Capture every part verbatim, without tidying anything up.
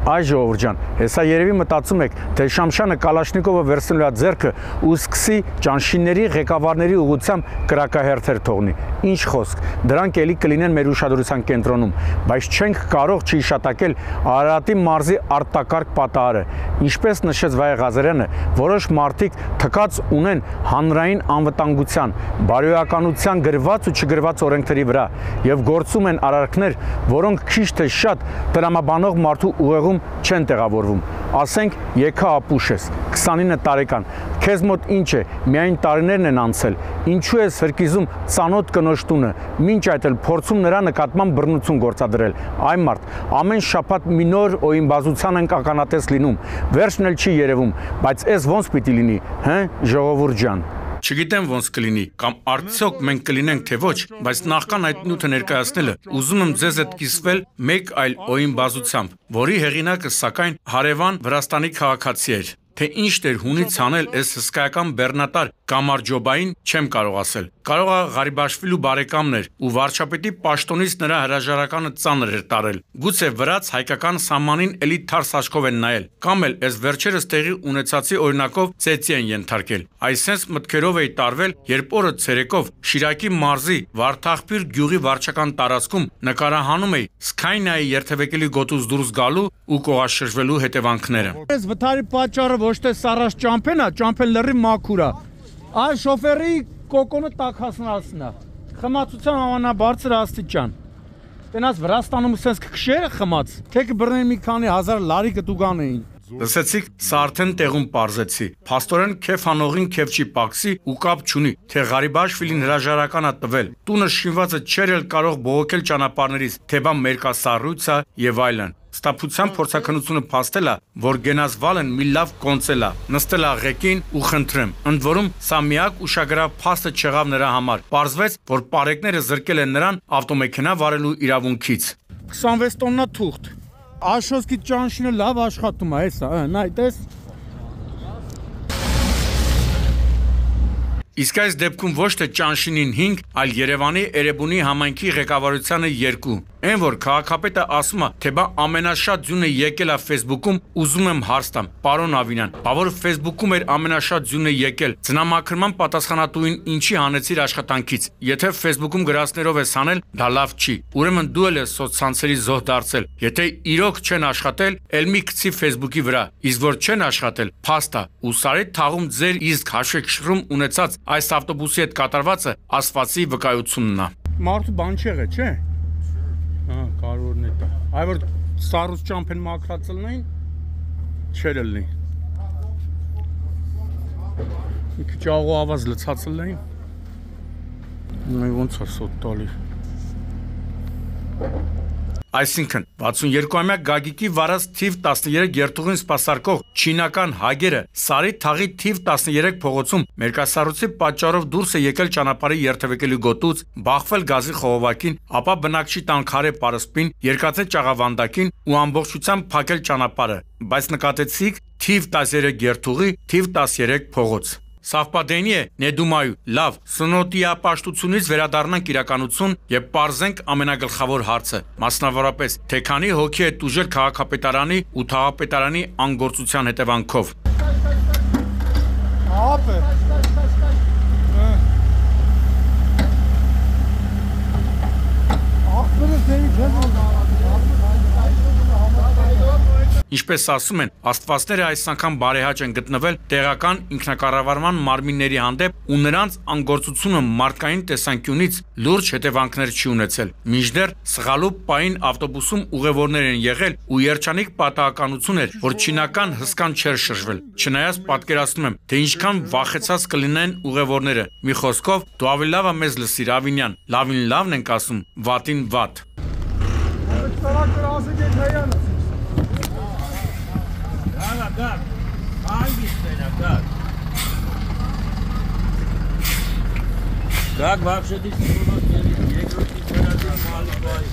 Այ ժողովուրդ ջան, հեսա երևի մտածում եք, թե Շամշյանը Կալաշնիկովը վերցնելու է ձեռքը ու սկսի ճանշինների ղեկավարների ուղղությամբ կրակահերթեր թողնի։ Ինչ խոսք, դրանք էլի կլինեն մեր ուշադրության կենտրոնում, բայց չենք կարող չհիշատակել Արարատի մարզի արտակարգ պատահարը։ Ինչպես նշեց Վայե Ղազարյանը, որոշ մարդիկ թքած ունեն հանրային անվտանգության, բարոյականության գրված ու չգրված օրենքների վրա եւ գործում են արարքներ, որոնք քիչ թե շատ տրամաբանող մարդու ուղեղում չեն տեղավորվում։ Ասենք, եկա ապուշ ես, քսանինը տարեկան, քեզ մոտ ինչ է, միայն տարիներն են անցել, ինչու ես հրկիզում ծանոթ կնոջ տունը, մինչ այդ էլ փորձում նրա նկատմամբ բռնություն գործադրել։ Այ մարդ, ամեն շաբաթ մի նոր օյնբազության ենք ականատես լինում, վերջն էլ չի երևում, բայց էս ոնց պիտի լինի, հը, ժողովուրդ ջան։ Չգիտեմ ոնց կլինի, կամ արդյոք մենք կլինենք թե ոչ, բայց նախքան այդ նյութը ներկայացնելը, ուզում եմ ձեզ հետ կիսվել մեկ այլ օյնբազությամբ, որի հեղինակը սակայն հարևան Վրաստանի քաղաքացի էր։ Թե ինչ դեր հունից անել այս հսկայական բեռնատար Կամարջոբային չեմ կարող ասել։ Կարող է Ղարիբաշվիլու բարեկամն էր ու վարչապետի պաշտոնից նրա հրաժարականը ծանր էր տարել։ Գուցե վրաց հայկական սահմանին էլի թարս աչքով են նայել, կամ էլ այս վերջերս տեղի ունեցածի օրինակով ծեծի են ենթարկել։ Այսենց մտքերով էի տարվել, երբ օրը ցերեկով Շիրակի մարզի Վարդախպիր գյուղի վարչական տարածքում նկարահանում էի Սկայնայի երթևեկելի գոտուց դուրս գալու ու կողաշրջվելու հետևանքները։ Այս վթարի պատճառը ոչ թե սարաշ ճամփեն է, ճամփեն լրի մաքուր է։ Այս շոֆերի կոկոնը տաքացնացն է։ Խմացության ամենաբարձր աստիճան։ Տենաս Վրաստանում սենց քշերը խմած, թե կբռնեն մի քանի հազար լարի կտուգան էին։ Լսեցիք, սա արդեն տեղում պարզեցի։ Փաստորեն քեֆ անողին քեֆ չի պակսի ու կապ չունի, թե Ղարիբաշվիլին հրաժարական է տվել։ Տունը շինվածը չէր էլ կարող բողոքել ճանապարհներից, թե բա մերկասառույցա եւ այլն։ Ստապության փորձակնությունը փաստել է, որ գենազվալն մի լավ կոնցել է, նստել է ղեկին ու խնդրեմ։ Ընդ որում, սա միակ ուշագրավ փաստը չեղավ նրա համար։ Պարզվեց, որ պարեկները զրկել են նրան ավտոմեքենա վարելու իրավունքից։ քսանվեց տոննա թուղթ։ Աշոսկի ճանշինը լավ աշխատում է, հեսա, նայ, տես։ Իսկ այս դեպքում ոչ թե ճանշինին հինգ, այլ Երևանի Էրեբունի համայնքի ղեկավարությանը երկու։ Այն որ քաղաքապետը ասում է, թե բա ամենաշատ ձյունը եկել է Facebook-ում, ուզում եմ հարց տամ, պարոն Ավինյան, բա որ Facebook-ում էր ամենաշատ ձյունը եկել, ձնամաքրման պատասխանատուին ինչի հանեցիր աշխատանքից։ Եթե Facebook-ում գրածներով ես անել, դա լավ չի։ Ուրեմն դու էլ ես սոցցանցերի զոհ դարձել։ Եթե իրոք չեն աշխատել, ել մի գցի Facebook-ի վրա, իսկ որ չեն աշխատել, փաստ է։ Ու Սարի թաղում ձեր իսկ հաշվեկշռում ունեցած այս ավտոբուսի հետ կատարվածը ասվածի վկայությունն է։ Մարդու բան չի եղել, չէ՞։ Հա, կարևորն է դա։ Այ որ սառուց ճամփեն մաքրածելնային չեր լինի։ Մի քիչ աղո ավազ լցածելնային։ Նայ ոնց է սոտ տալի։ Այսինքն վաթսունյոթամյա Գագիկի վարած թիվ տասներեք երթուղին սպասարկող չինական հագերը Սարի թաղի թիվ տասներեք փողոցում մերկասառույցի պատճառով դուրս է եկել ճանապարհի երթևեկելի գոտուց, բախվել գազի խողովակին, ապա բնակչի տան քարե պարսպին, երկաթե ճաղավանդակին ու ամբողջությամբ փակել ճանապարհը, բայց նկատեցիք թիվ տասներեք երթուղի, թիվ տասներեք փողոց։ Սավպադենի է, նեդումայու, լավ, սնոտիապաշտությունից վերադառնանք իրականություն եւ պարզենք ամենագլխավոր հարցը, մասնավորապես, թե քանի հոգի է տուժել քաղաքապետարանի ու թաղապետարանի անգործության հետևանքով։ Ապե։ Ախպերը դերի չեն։ Ինչպես ասում են, աստվածները այս անգամ բարեհաճ են գտնվել տեղական ինքնակառավարման մարմինների հանդեպ ու նրանց անգործությունը մարդկային տեսանկյունից լուրջ հետևանքներ չի ունեցել։ Մինչդեռ սխալու պահին ավտոբուսում ուղևորներ են եղել ու երջանիկ պատահականություն էր, որ չինական հսկան չէր շրջվել։ Չնայած պատկերացնում եմ, թե ինչքան վախեցած կլինեն ուղևորները։ Մի խոսքով, դու ավելի լավ է մեզ լսիր, Ավինյան, լավին լավն ենք ասում, վատին վատ։ Գար, հանգիստ էր, գար։ Գակ վավշետից երկրորդի չերատին մալի բայ։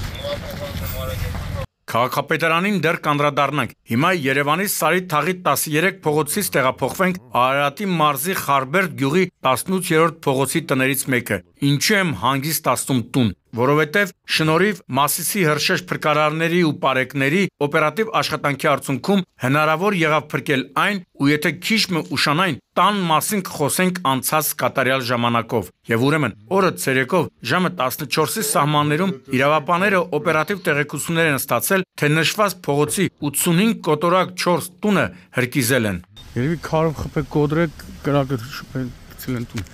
Քաղաքապետարանին դեռ կանդրադառնանք։ Հիմա Երևանի Սարի թաղի տասներեք փողոցից տեղափոխվենք Արարատի մարզի Խարբերդ գյուղի տասնութերորդ փողոցի տներից մեկը։ Ինչու եմ հանգիստ ասում տուն։ որովհետև շնորհիվ Մասիսի հրշեջ փրկարարների ու պարեկների օպերատիվ աշխատանքի արդյունքում հնարավոր եղավ փրկել այն, ու եթե քիչ մը ուշանային, տան մասին կխոսենք անցած կատարյալ ժամանակով։ Եվ ուրեմն օրը ցերեկով ժամը տասնչորսի սահմաններում իրավապանները օպերատիվ տեղեկություններ են ստացել, թե նշված փողոցի ութսունհինգ կոտորակ չորս տունը հրկիզել են։ Երևի քարով խփել կոդրեք կրակը շփել ցելեն տուն։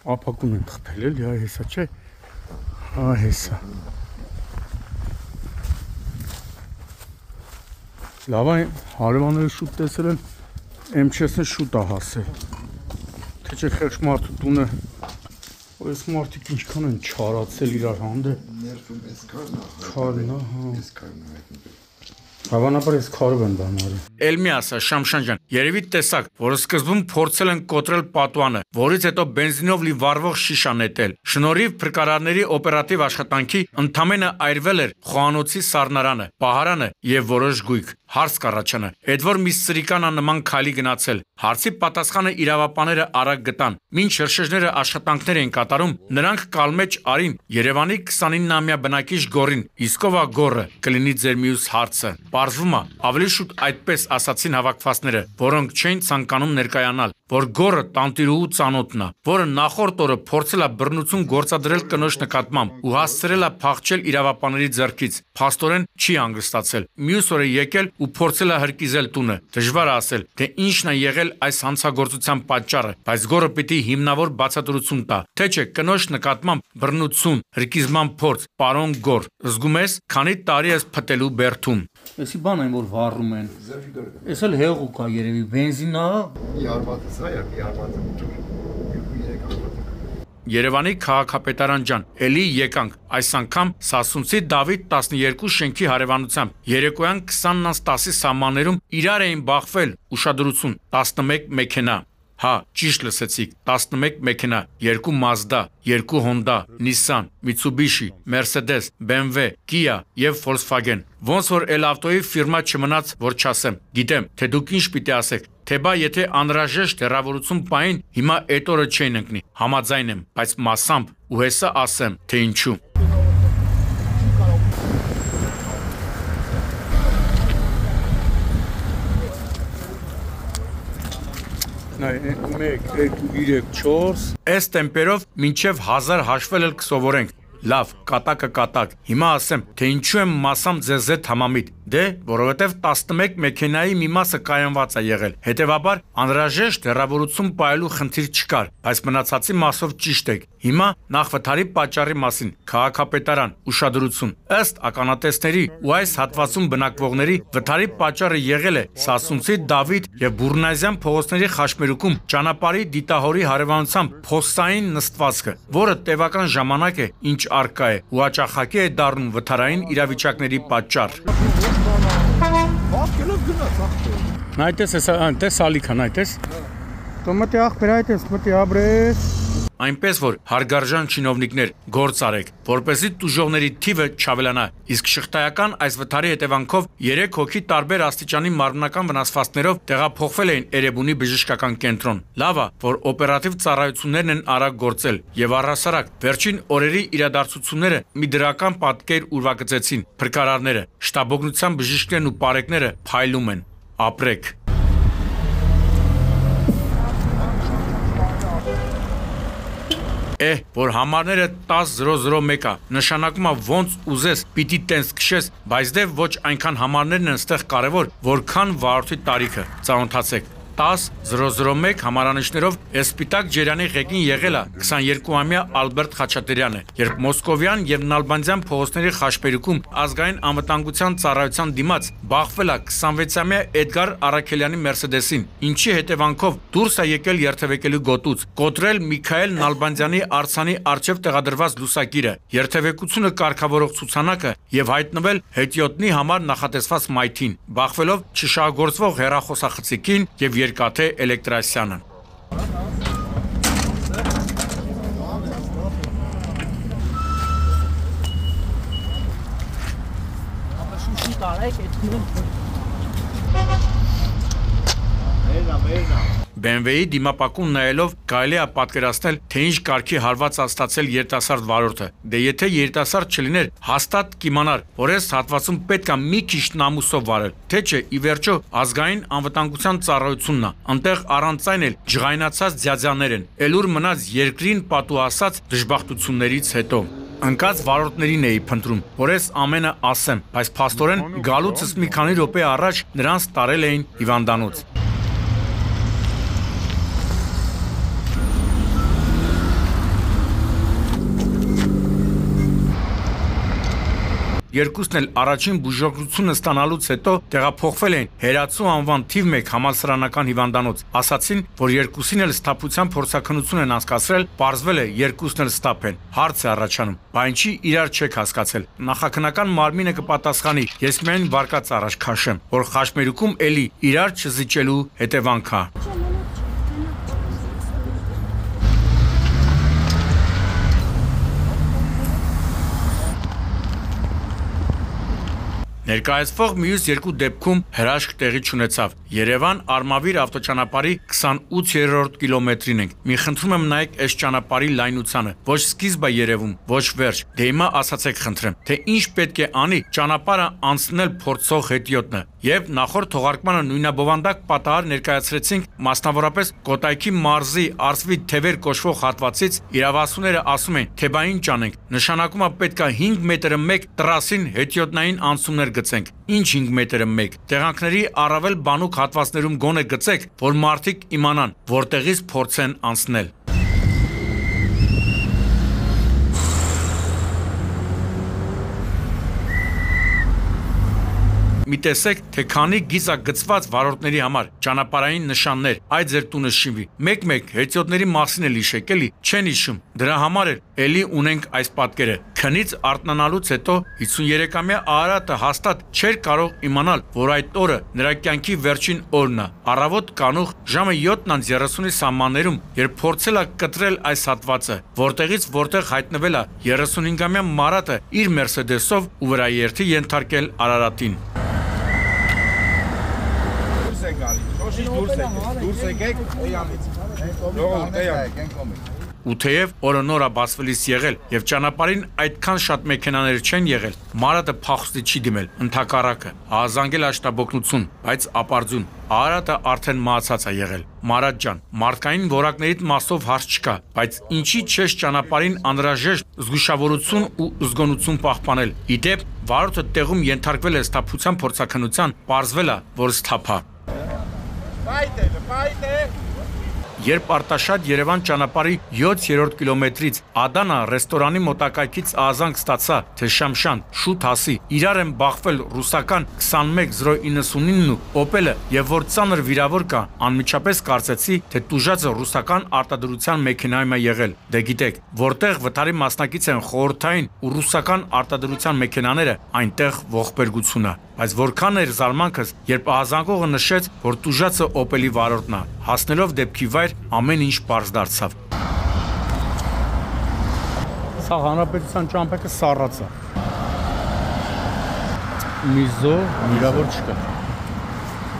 Ապակուն են խփել էլի, այ հեսա չէ։ Այ հեսա։ Լավ է, հարևանները շուտ տեսել են, M չեսը շուտ է հասել։ Թե չէ խեղճ մարդու տունը, որ այս մարդիկ ինչքան են չարացել իրար հանդեպ։ Ներվում էս քարն է։ Քարն է, հա։ Էս քարն է հայտնվել։ Հավանաբար ես քարով են բանարի։ Էլմի ասա Շամշան ջան, երևի տեսակ, որ սկզբում փորձել են կոտրել պատուանը, որից հետո բենզինով լի վառվող շիշա նետել։ Շնորհիվ փրկարարների օպերատիվ աշխատանքի ընդամենը այրվել էր խոհանոցի սառնարանը, պահարանը եւ որոշ գույք։ Հարց կառաջանա, այդ որ մի սրիկանա նման քայլի գնացել։ Հարցի պատասխանը իրավապանները արագ գտան։ Մինչ հրշեջները աշխատանքներ էին կատարում, նրանք կալմեջ արին Երևանի քսանիննամյա բնակիչ Գորին, իսկ ով է Գորը, կլինի ձեր մյուս հարցը։ Պարզվում է, ավելի շուտ այդպես ասացին հավաքվածները, որոնք չէին ցանկանում ներկայանալ, որ Գորը տանտիրուհու ծանոթն է, որը նախորդ օրը փորձել է բռնություն գործադրել կնոջ նկատմամբ ու հասցրել է փախչել իրավապանների ձեռքից։ Փաստորեն չի հանգստացել։ Մյուս օրը եկել ու փորձել է հրկիզել տունը։ Դժվար է ասել, թե ինչն է եղել այս հանցագործության պատճառը, բայց Գորը պիտի հիմնավոր բացատրություն տա, թե չէ կնոջ նկատմամբ բռնություն, հրկիզման փորձ, պարոն Գոր, զգում ես, քանի տարի ես փտելու բերդում։ Էսի բան այն որ վառում են։ Էս էլ հեղուկ է երևի, բենզին է։ Yarbatı sayar, yarbatı dur. Yürek yarbatı. Երևանի քաղաքապետարան ջան, էլի եկանք, այս անգամ Սասունցի Դավիթ տասնյոթ շենքի հարևանությամբ, երեկոյան քսանից տասի սահմաններում իրար էին բախվել, ուշադրություն, տասնմեկ մեքենա։ Հա, ճիշտ լսեցիք, տասնմեկ մեքենա, երկու Mazda, երկու Honda, Nissan, Mitsubishi, Mercedes, B M W, Kia եւ Volkswagen։ Ոնց որ էլ ավտոյի ֆիրմա չմնաց, որ չասեմ։ Գիտեմ, թե դուք ինչ պիտի ասեք, թե բա եթե անհրաժեշտ հեռավորություն պային, հիմա այդ օրը չէին ընկնի։ Համաձայն եմ, բայց մասամբ ու հեսա ասեմ, թե ինչու։ մեկ, երկու, երեք, չորս։ Այս տեմպերով մինչև հազար հաշվել էլ կսովորենք։ Լավ, կատակը կատակ։ Հիմա ասեմ, թե ինչու եմ մասամ ձեզ հետ համամիտ։ Դե, որովհետև տասնմեկ մեքենայի մի մասը կայանված է եղել։ Հետևաբար, անհրաժեշտ հեռավորություն պահելու խնդիր չկար, բայց մնացածի մասով ճիշտ եք։ Հիմա նախ վթարի պատճառի մասին, քաղաքապետարան, ուշադրություն։ Ըստ ականատեսների ու այս հատվածում բնակվողների, վթարի պատճառը եղել է Սասունցի Դավիթ եւ Բուրնազյան փողոցների խաչմերուկում ճանապարհի դիտահորի հարևանությամբ փոստային նստվածքը, որը տևական ժամանակ է, ինչ արկա է ու հաճախակի է դառնում վթարային իրավիճակների պատճառ։ Նայտես էս այնտես ալիքան, այդտես։ Տոմատի աղբեր այդտես, մտի աբրես։ Այնպես որ հարգարժան չինովնիկներ գործ արեք, որպեսզի տուժողների թիվը չավելանա, իսկ շղթայական այս վթարի հետևանքով երեք հոգի տարբեր աստիճանի մարմնական վնասվածքներով տեղափոխվել էին Էրեբունի բժշկական կենտրոն։ Լավ է, որ օպերատիվ ծառայություններն են արագ գործել եւ առհասարակ վերջին օրերի իրադարձությունները մի դրական պատկեր ուրվագծեցին։ Փրկարարները, շտաբօգնության բժիշկներն ու պարեկները փայլում են։ Ապրեք։ Էհ, որ համարները տասը զրո զրո մեկ է, նշանակում է ոնց ուզես, պիտի տենց քշես, բայց դե ոչ այնքան համարներն են ստեղ կարևոր, որքան վարորդի տարիքը։ Ծանոթացեք։ տասը զրո զրո մեկ համարանիշներով Էսպիտակ Ջերյանի ղեկին եղել է քսաներկուամյա Ալբերտ Խաչատրյանը, երբ Մոսկովյան եւ Նալբանդյան փողոցների խաչմերուկում ազգային անվտանգության ծառայության դիմաց բախվել է քսանվեցամյա Էդգար Արաքելյանի Մերսեդեսին, ինչի հետևանքով դուրս է եկել երթևեկելու գոտուց, կոտրել Միքայել Նալբանդյանի արձանի առջև տեղադրված լուսակիրը, երթևեկությունը կարգավորող ցուցանակը եւ հայտնվել հետիոտնի համար նախատեսված մայթին, բախվելով չշահգործվող հեռախոսախցիկին եւ Երկաթե Էլեկտրասյանը։ B M W-ի դիմապակուն նայելով կարելի է պատկերացնել, թե ինչ կարգի հարված է ստացել երիտասարդ վարորդը։ Դե եթե երիտասարդ չլիներ, հաստատ կիմանար, որ այս հատվածում պետք է մի քիչ նամուսով վարել, թե չէ ի վերջո ազգային անվտանգության ծառայությունն է, այնտեղ առանց այն էլ ջղայնացած ձյաձյաներ են, էլ ուր մնաց երկրին պատուհասած դժբախտություններից հետո։ Ընկած վարորդներին էի փնտրում, որ այս ամենը ասեմ, բայց փաստորեն գալուցս մի քանի րոպե առաջ նրանց տարել էին հիվանդանոց։ Երկուսն էլ առաջին բուժօգնությունը ստանալուց հետո տեղափոխվել էին Հերացու անվան թիվ մեկ համալսարանական հիվանդանոց։ Ասացին, որ երկուսին էլ սթափության փորձաքննություն են անցկացրել, պարզվել է երկուսն էլ սթափ են։ Հարց է առաջանում, բա ինչի իրար չեք հասկացել։ Նախաքննական մարմինը կպատասխանի, ես միայն վարկած առաջ քաշեմ, որ խաչմերուկում էլի իրար չզիջելու հետևանք է։ Ներկայացվող մյուս երկու դեպքում հրաշք տեղի չունեցավ։ Երևան Արմավիր ավտոճանապարհի քսանութերորդ կիլոմետրին ենք։ Մի խնդրում եմ նայեք այս ճանապարհի լայնությանը։ Ոչ սկիզբ է երևում, ոչ վերջ։ Դե հիմա ասացեք խնդրեմ, թե ինչ պետք է անի ճանապարհը անցնել փորձող հետիոտնը։ Եվ նախորդ թողարկմանը նույնաբովանդակ պատահար ներկայացրեցինք մասնավորապես Կոտայքի մարզի Արծվի թևեր կոչվող հատվածից իրավասուները ասում են, թե բա ինչ անենք։ Նշանակում է պետք է հինգ մետրը մեկ տրասին հետիոտնային անցումներ գցենք։ Ինչ հինգ մետրը մեկ։ Տեղանքների առավել բանուկ հատվածներում գոնե գցեք, որ մարդիկ իմանան, որտեղից փորձեն անցնել։ Մի տեսեք, թե քանի գիծագծված վարորդների համար ճանապարհային նշաններ, այդ ձեր տունը շինվի։ Մեկ-մեկ հետիոտների մասին էլ հիշեք, էլի, չեն հիշում։ Դրա համար էլ էլի ունենք այս պատկերը։ Քնից արթնանալուց հետո հիսունյերեկամյա Արարատը հաստատ չէր կարող իմանալ, որ այդ օրը նրա կյանքի վերջին օրն է։ Առավոտ կանուխ ժամը յոթ երեսունի սահմաններում, երբ փորձել է կտրել այս հատվածը, որտեղից որտեղ հայտնվել է երեսունհինգամյա Մարատը իր Մերսեդեսով ու վրաերթի ենթարկել Արարատին։ Դուրս եկեք, էյանից։ Ժողովուրդ, էյան։ Ու թեև օրը նոր է բացվելիս եղել եւ ճանապարհին այդքան շատ մեքենաներ չեն եղել, Մարատը փախուստի չի դիմել, ընդհակառակը, ահազանգել աշտաբոկնություն, բայց ապարդյուն։ Արարատը արդեն մահացած է եղել։ Մարատ ջան, մարդկային որակներից մասով հարց չկա, բայց ինչի չես ճանապարհին անհրաժեշտ զգուշավորություն ու զգոնություն պահպանել։ Իդեպ, վարորդը տեղում ենթարկվել է սթափության փորձաքննության, պարզվել է, որ սթափ է։ Պայտ է, պայտ է։ Երբ Արտաշատ Երևան ճանապարհի յոթերորդ կիլոմետրից Ադանա ռեստորանի մոտակայքից ահազանգ ստացա, թե Շամշան, շուտ հասի, իրար են բախվել ռուսական քսանմեկ զրո իննսունինն ու Օպելը, եւ որ ծանր վիրավոր կա, անմիջապես կարծեցի, թե տուժածը ռուսական արտադրության մեքենայում է եղել։ Դե գիտեք, որտեղ վթարի մասնակից են խորհրդային ու ռուսական արտադրության մեքենաները, այնտեղ ողբերգություն է։ Բայց որքան էր զարմանքս, երբ ահազանգողը նշեց, որ տուժածը Օպելի վարորդն է, հասնելով դեպքի վայր ամեն ինչ պարզ դարձավ։ Սա հանրապետության ճամփեքը սառած է։ Միզո վիրավոր չկա։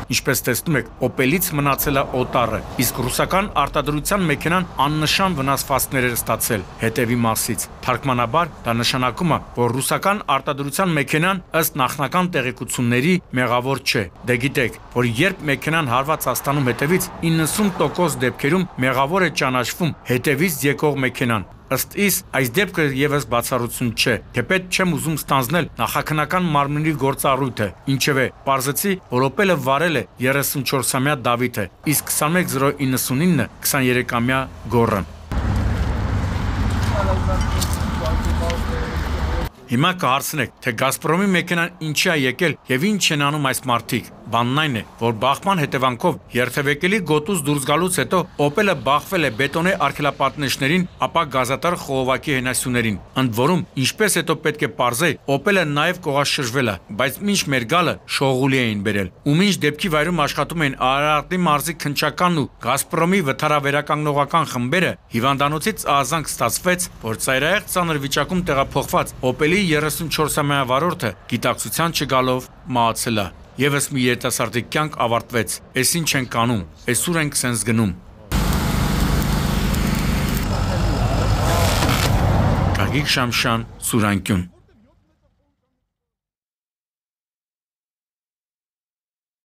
Ինչպես տեսնում եք, Օպելից մնացել է օտարը, իսկ ռուսական արտադրության մեքենան աննշան վնասվածքներ էր ստացել հետևի մասից։ Թարգմանաբար դա նշանակում է, որ ռուսական արտադրության մեքենան ըստ նախնական տեղեկությունների մեղավոր չէ։ Դե գիտեք, որ երբ մեքենան հարված է ստանում հետևից, իննսուն տոկոս դեպքերում մեղավոր է ճանաչվում հետևից եկող մեքենան։ Ըստ իս, այս դեպքը եւս բացառություն չէ, թեպետ չեմ ուզում ստանձնել նախաքննական մարմնի գործառույթը, ինչևէ, պարզեցի, որ Օպելը վարել է երեսունչորսամյա Դավիթը, իսկ քսանմեկ զրո իննսունինը քսաներեքամյա Գոռը։ Հիմա կհարցնեք, թե Գազպրոմի մեքենան ինչի է եկել եւ ինչ են անում այս մարդիկ։ Բանն այն է, որ բախման հետևանքով երթևեկելի գոտուց դուրս գալուց հետո Օպելը բախվել է բետոնե արգելապատնեշներին, ապա գազատար խողովակի հենասյուներին։ Ընդ որում, ինչպես հետո պետք է պարզե, Օպելը նաեւ կողաշրջվել է, բայց մինչ մեր գալը շողուլի էին բերել։ Ու մինչ դեպքի վայրում աշխատում էին Արարատի մարզի քնչականն ու Գազպրոմի վթարավերականգնողական խմբերը, հիվանդանոցից ահազանգ ստացվեց, որ ծայրահեղ ծանր վիճակում տեղափոխված Օպելի երեսունչորսամյա վարորդը գիտակցության չգալով մահացել է։ Եվս մի երիտասարդի կյանք ավարտվեց, էս ինչ ենք անում, էս ուր ենք սենց գնում։ Գագիկ Շամշյան, Սուրանկյուն։